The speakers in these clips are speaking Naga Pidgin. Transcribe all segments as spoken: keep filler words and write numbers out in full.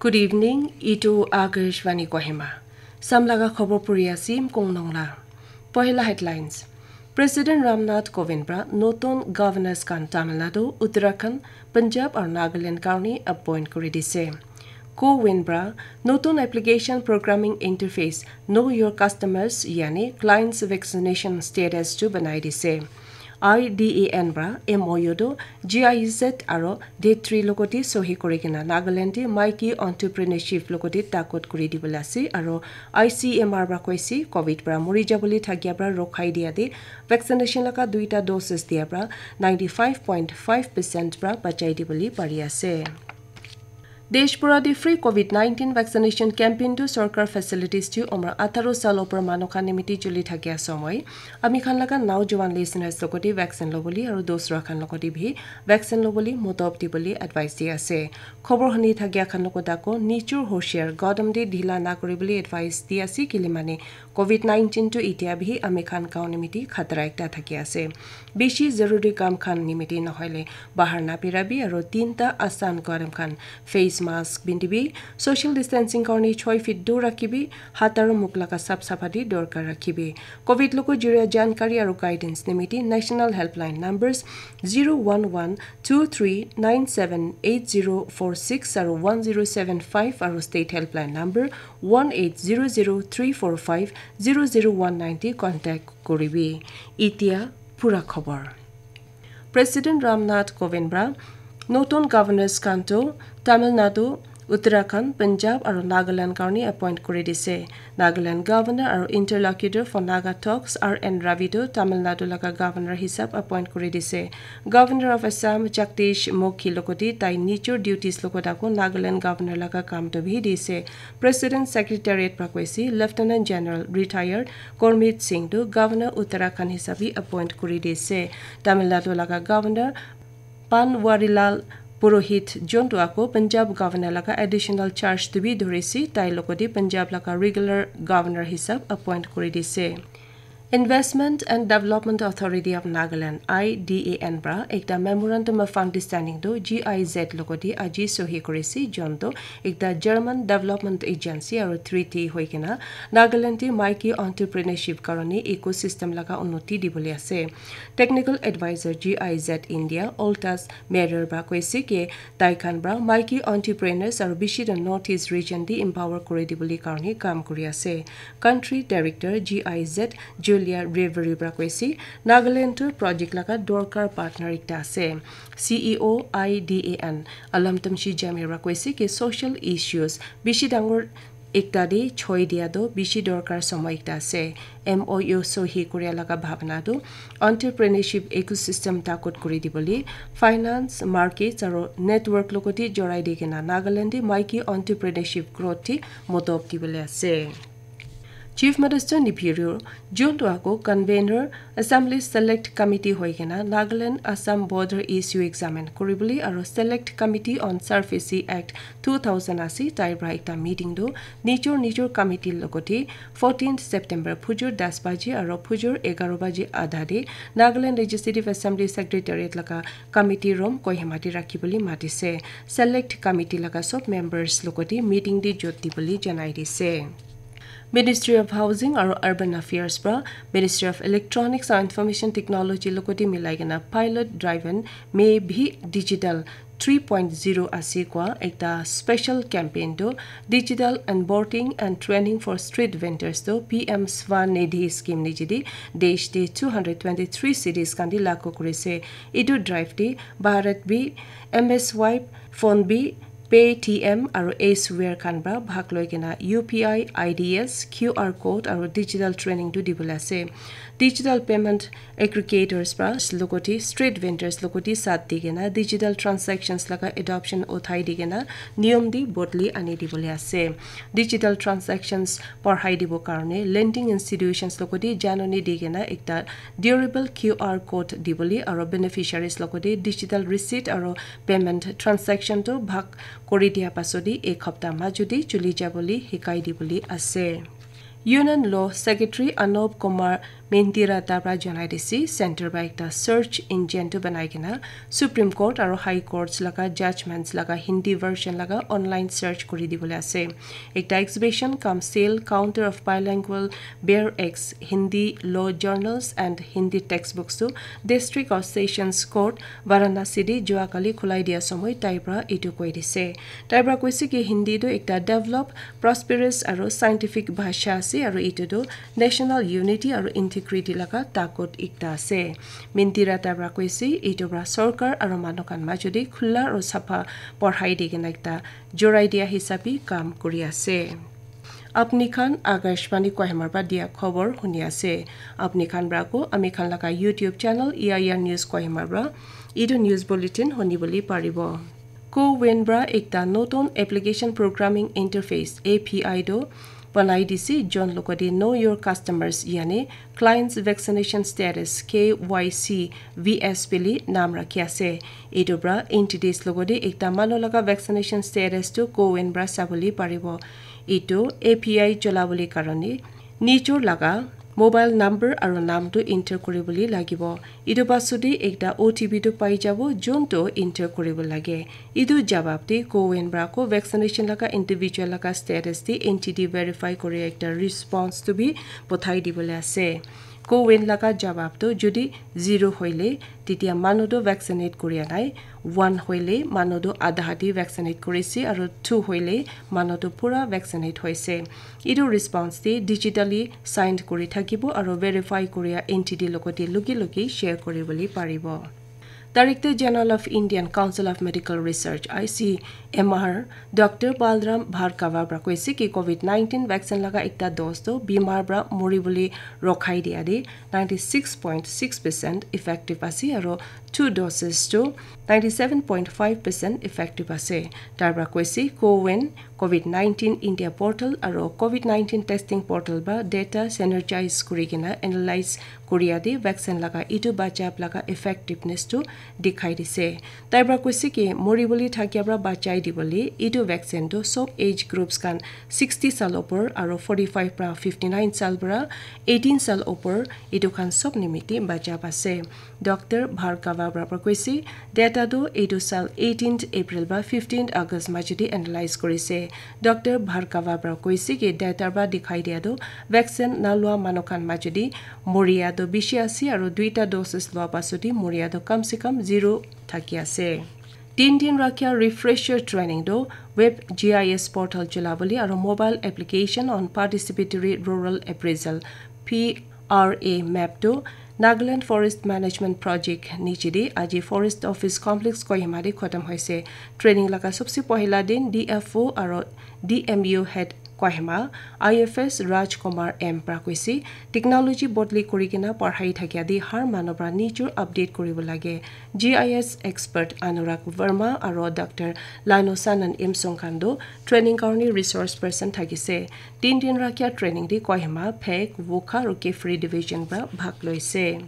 Good evening, itu Akashvani Kohima. Samlaga khobor puri asim kong nongla. Pohila headlines. President Ramnath Kovind pra notun governors khan Tamil Nadu, Uttarakhand, Punjab aru Nagaland karni appoint kuri dise. Kovind pra notun application programming interface Know Your Customers yani clients vaccination status tu banai dise. I D A N pra M O U tu G I Z aro D three logoti sohi kuri kena Nagaland te maiki entrepreneurship logoti takot kuri dibole ase aro I C M R pra koise Covid pra mori jabole thakia pra rokhai dia te vaccination laga duita doses dia pra ninety five point five percent pra bachai dibole pari ase. Desh pura te free Covid nineteen vaccination campaign tu sorkar facilities tu umar atharo sal opor manu khan nimiti chuli thakia somoi ami khan laga naujawan listeners logoti vaccine lobole aru dosra khan logoti bhi vaccine lobole motop dibole advice di ase. Khobor huni thakia khan logot ako nijor hoshiar godam de dhila na kuribole advice di ase kile mane Covid nineteen tu itia bhi ami khan gaon nimiti khatra ekta thaki ase. Bishi zaruri kam khan nimiti nohoile bahar na pirabi aru tinta asan godam khan face mask bindibi, social distancing karni choi feet dur rakhibi, hat aru muk laga sap sapati dorkar rakhibi. Covid logo juria jankari aru guidance nimiti national helpline numbers zero one one two three nine seven eight zero four six aru one zero seven five aru state helpline number one eight zero zero three four five zero zero one nine te contact koribi. Itia pura khobor. President Ramnath Kovind pra notun governors khan tu Tamil Nadu, Uttarakhand, Punjab aru Nagaland karni appoint kuri dise. Nagaland governor aru interlocutor for Naga talks R N Ravi tu Tamil Nadu laga governor hisab appoint kuri dise. Governor of Assam Jagdish Mukhi logoti tai nijor duties logot ako Nagaland governor laga kam tu bhi dise. President Secretariat pra koise Lieutenant General retired Gurmeet Singh tu Governor Uttarakhand hisabi appoint kuri dise. Tamil Nadu laga Governor Banwarilal Purohit jontu ako Punjab Governor laga additional charge tu bhi dhurisi tai logoti Punjab laga regular Governor hisab appoint kuri dise. Investment and Development Authority of Nagaland, I D A N pra ekta memorandum of understanding tu G I Z logoti aji sohi kurisi jontu ekta German development agency aru treaty hoi kena Nagaland te maiki entrepreneurship karone ecosystem laga unnoti dibole ase. Technical advisor G I Z India Oltas Merer pra koise ke tai khan pra maiki entrepreneurs aru bishi the North East region te empower kuri dibole karone kam kuri ase. Country Director G I Z Julia Reverie pra koise Nagaland tu project laga dorkar partner ekta ase. C E O I D A N Alamtam Shijami pra koise ke social issues bishi dangor ekta de choi dia tu bishi dorkar somoy ekta ase. M O U sohi kuria laga bhabna tu entrepreneurship ecosystem takot kuri dibole, finance, markets aru network logoti jorai di kena Nagaland te maiki entrepreneurship growth te modop dibole ase. Chief Minister Neiphiu Rio, June tu ako convener Assembly Select Committee hoi kena Nagaland Assam border issue examine kuribole aru Select Committee on Surface Act two thousand ase tai pra ekta meeting tu nijor nijor committee logote fourteenth September phujur das baji aru phujur egaroh baji adha te Nagaland Legislative Assembly Secretariat laga committee room Kohima te rakhibole matise. Select committee laga sob members logote meeting te jot dibole janai dise. Ministry of Housing aru Urban Affairs pra Ministry of Electronics and Information Technology logote milai kena pilot driven may bhi digital three point zero ase koa ekta special campaign tu digital onboarding and training for street vendors tu P M Swanidhi scheme nijidi desh te two hundred twenty-three cities khan te lagu kurise. Etu drive te Bharat bi M S Y phone bi Paytm aru Aceware khan pra bhag loi kena U P I, I D S, Q R code aru digital training tu dibole ase. Digital payment aggregators pra logote street vendors logote sat di kena digital transactions laga adoption uthai di kena niyom di bodli ani dibole ase. Digital transactions parhai dibo karone lending institutions logote janoni di kena ekta durable Q R code dibole aru beneficiaries logote digital receipt aru payment transaction tu bhag kuri dia pasodi ek hapta majudi chuli jabole hikai dibole ase. Union Law Secretary Anop Kumar Mintira ta pra janai dise, center pra ekta search engine tu banai kena Supreme Court aro High Courts laga judgments laga Hindi version laga online search kuri dibole ase. Ekta exhibition cum sale counter of bilingual Bear X Hindi law journals and Hindi textbooks tu District or Sessions Court Varanasi de jua kali khulai dia somoi tai pra etu koi dise. Tai pra koise ki Hindi tu ekta develop, prosperous aro scientific bhasha ase aro etu tu national unity aro integrity laga takot ekta ase. Mintira ta pra koise etu pra sorkar aro manu khan majodi khula aro sapha porhai di kena ekta jorai dia hisabi kam kuri ase. Apni khan Akashvani Kohima pra dia khobor huni ase. Apni khan pra ko ami khan laga YouTube channel E I R News Kohima pra etu news bulletin huni bole paribo. CoWIN pra ekta notun application programming interface A P I do banai dise, jon logode Know Your Customers yani Clients Vaccination Status K Y C V S bili naam rakhi ase. Etu pra entities logode ekta manu laga vaccination status tu CoWIN pra sabole paribo. Etu A P I cholabole karone nijor laga mobile number aro naam tu enter kuribole lagibo. Etu pasode ekta O T P tu pai jabo, jon tu enter kuribo lage. Etu jawab te CoWIN pra ko vaccination laga individual laga status te entity verify kuri ekta response tu bi pothai dibole ase. CoWIN laga jawab tu jodi zero hoile, tetia manu tu vaccinate kuria nai. One hoile manu tu adha hati vaccinate kurise, aro two hoile manu tu pura vaccinate hoise. Etu response te digitally signed kuri thakibo aro verify kuria entity logote luki luki share kuribole paribo. Director General of Indian Council of Medical Research, I C M R, Doctor Balram Bhargava pra koise ki COVID nineteen vaccine laga ekta dose to bimar pra mori bole rokhai dia de ninety six point six percent effective ase aro two doses to ninety seven point five percent effective ase. Tar pra koise CoWIN COVID nineteen India portal aro COVID nineteen testing portal pra data synergize kuri kena analyze kuria de vaccine laga etu bachap laga effectiveness tu dikhai dise. Tai pra koise ki mori bole thakia pra bachai dibole etu vaccine tu sob age groups khan sixty sal opor aro forty five pra fifty nine sal pra eighteen sal opor etu khan sob nimite bachap ase. Doctor Bhargava pra koise data tu etu sal eighteenth April pra fifteenth August majute analyze kurise. Doctor Bhargava pra koise ki data pra dikhai dia tu vaccine na lua manu khan majute moria tu bishi ase aro duita doses lua pasute moria tu kam se kam zero thaki ase. Tin din rakhia refresher training tu web G I S portal chulabole aro mobile application on participatory rural appraisal P R A map tu Nagaland Forest Management Project niche de aji Forest Office Complex Kohima de khotom hoise. Training laga sobse pohila din D F O aro D M U head Kohima, I F S Raj Kumar M pra koise, technology bodli kuri kena parhai thakia de har manu pra nijor update kuribo lage. G I S expert Anurag Verma aro Doctor Lano Sanan Imsong khan tu training karone resource person thakise. Tin din rakhia training de Kohima, Phek, Wokha aro Kiphire division pra bhag loise.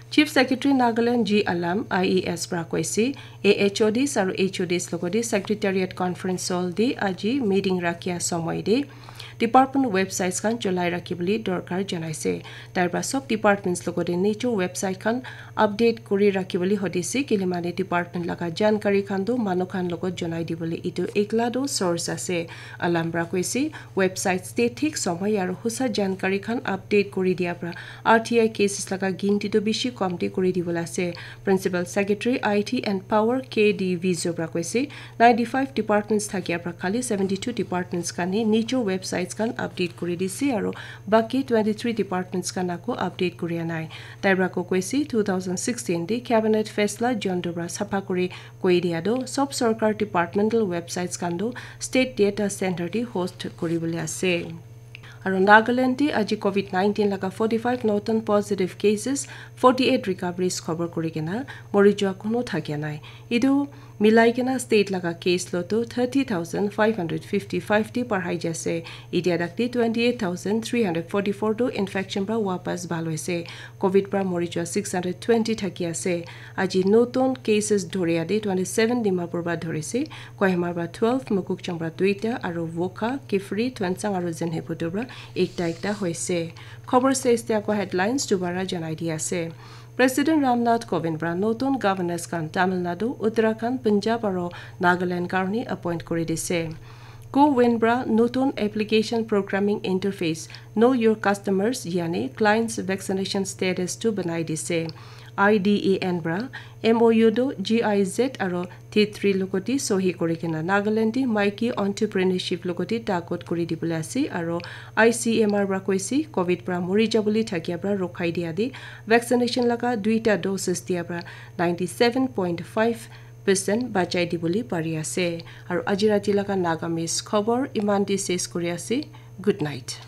Chief Secretary Nagaland G Alam I A S pra koise, A H O Ds aro H O Ds logode Secretariat Conference Hall de aji meeting rakhia somoi de department websites khan cholai rakhibole dorkar janaise. Tai pra sob departments logode nijor website khan update kuri rakhibole hodise, kile mane department laga jankari khan tu manu khan logot janai dibole etu ekla tu source ase. Alam pra koise, websites te thik somoi aro husa jankari khan update kuri dia pra R T I cases laga ginti tu bishi komti kuri dibole ase. Principal Secretary I T and Power K D Vizo pra koise, ninety five departments thakia pra khali seventy two departments khan he nijor websites khan update kuri dise aro baki twenty three departments khan ako update kuria nai. Tai pra ko koise two thousand sixteen de cabinet faisla jontu pra sapha kuri koi dia tu sob sorkar departmental websites khan tu state data center de host kuribole ase. Aro Nagaland de aji COVID nineteen laga forty five notun positive cases, forty eight recoveries khobor kuri kena mori jua kono thakia nai. Etu Milai kena state laga case lo tu thirty thousand five hundred fifty five ti parhai jai ase. Itia tak ti twenty eight thousand three hundred forty four tu infection pra wapas bhal hoise. Covid pra mori jua six hundred twenty thaki ase. Aji notun cases dhoriya de twenty seven Dimapur pra dhorise, Kohima pra twelve, Mokokchung pra duita, aru Wokha, Kiphire, Tuensang aru Zenhephoto pra ekta ekta hoise. Khobor ses te akwa headlines dubara janai di ase. President Ramnath Kovind pra notun governors khan Tamil Nadu, Uttarakhand, Punjab aru Nagaland karone appoint kori dise. CoWIN pra notun application programming interface Know Your Customers yani clients vaccination status tu banai dise. IDAN pra MOU tu GIZ aru T three logoti sohi kori kena Nagaland di maiki entrepreneurship logoti takot kori dibole ase aru ICMR pra koise Covid pra mori jabole thakia pra rokhai dia di vaccination laga duita doses dia pra ninety seven point five percent bachai dibole pari ase. Aru aji rati laga Nagamese khobor iman di ses kori ase. Good night.